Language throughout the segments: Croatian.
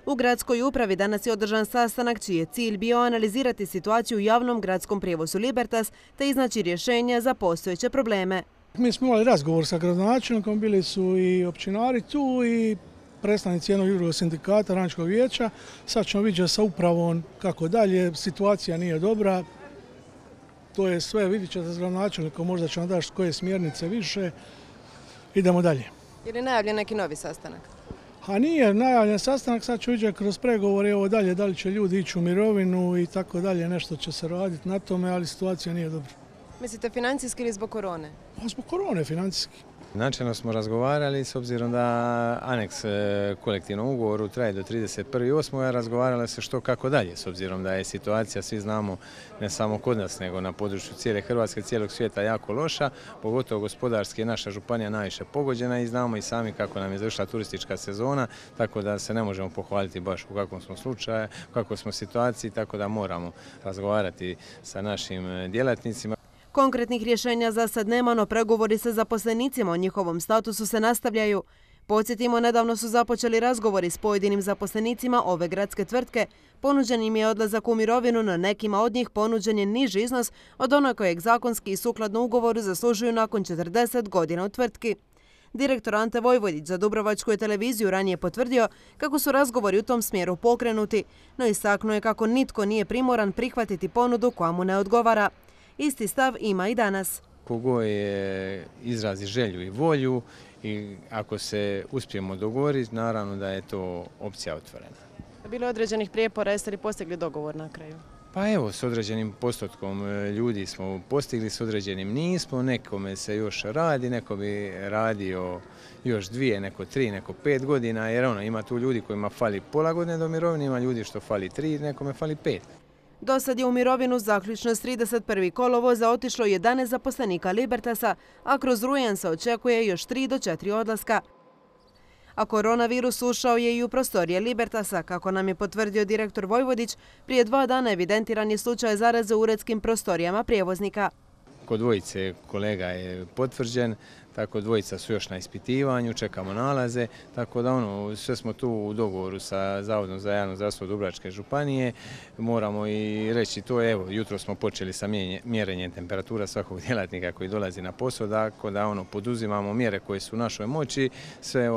U gradskoj upravi danas je održan sastanak čiji je cilj bio analizirati situaciju u javnom gradskom prijevozu Libertas te iznaći rješenja za postojeće probleme. Mi smo imali razgovor sa gradonačelnikom, bili su i općinari tu i predstavnici jednog drugog sindikata, radničkog vijeća. Sad ćemo vidjeti sa upravom kako dalje, situacija nije dobra. To je sve, vidjet ćete s gradonačelnikom, možda će nam dati koje smjernice više. Idemo dalje. Je li najavljen neki novi sastanak? A nije najavljen sastanak, sad ću vidjeti kroz pregovore ovo dalje, da li će ljudi ići u mirovinu i tako dalje, nešto će se raditi na tome, ali situacija nije dobra. Mislite financijski ili zbog korone? Pa zbog korone financijski. Načelno smo razgovarali s obzirom da aneks kolektivnom ugovoru traje do 31.8. razgovaralo se što kako dalje s obzirom da je situacija, svi znamo, ne samo kod nas nego na području cijele Hrvatske, cijelog svijeta jako loša, pogotovo gospodarski je naša županija najviše pogođena i znamo i sami kako nam je završila turistička sezona, tako da se ne možemo pohvaliti baš u kakvom smo slučaju, u kakvoj smo situaciji, tako da moramo razgovarati sa našim djelatnicima. Konkretnih rješenja za sad nema, no pregovori sa zaposlenicima o njihovom statusu se nastavljaju. Podsjetimo, nedavno su započeli razgovori s pojedinim zaposlenicima ove gradske tvrtke. Ponuđen im je odlazak u mirovinu, no nekima od njih ponuđen je niži iznos od onog kojeg zakonski i sukladno ugovoru zaslužuju nakon 40 godina u tvrtki. Direktor Ante Vojvodić za Dubrovačku je televiziju ranije potvrdio kako su razgovori u tom smjeru pokrenuti, no istaknuo je kako nitko nije primoran prihvatiti ponudu koja mu ne odgovara. Isti stav ima i danas. Kogo je izrazi želju i volju i ako se uspijemo dogovoriti, naravno da je to opcija otvorena. Bilo je određenih prijepora, jeste li postigli dogovor na kraju? Pa evo, s određenim postotkom ljudi smo postigli, s određenim nismo, nekome se još radi, neko bi radio još 2, neko 3, neko 5 godina, jer ima tu ljudi kojima fali pola godine do mirovine, ima ljudi što fali 3, nekome fali 5. Do sad je u mirovinu zaključno s 31. kolovoza otišlo 11 zaposlenika Libertasa, a kroz rujan se očekuje još 3 do 4 odlaska. A koronavirus ušao je i u prostorije Libertasa, kako nam je potvrdio direktor Vojvodić. Prije 2 dana evidentiran je slučaj zaraze u uredskim prostorijama prijevoznika. Kod dvojice kolega je potvrđen, tako dvojica su još na ispitivanju, čekamo nalaze, tako da sve smo tu u dogovoru sa Zavodom za javno zdravstvo Dubrovačke županije. Moramo i reći to, evo, jutro smo počeli sa mjerenjem temperatura svakog djelatnika koji dolazi na posao, tako da poduzimamo mjere koje su u našoj moći, sve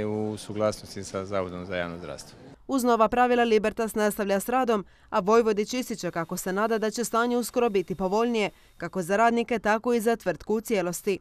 u suglasnosti sa Zavodom za javno zdravstvo. Uz nova pravila Libertas nastavlja s radom, a Vojvodić ističe kako se nada da će stanje uskoro biti povoljnije, kako za radnike, tako i za tvrtku u cijelosti.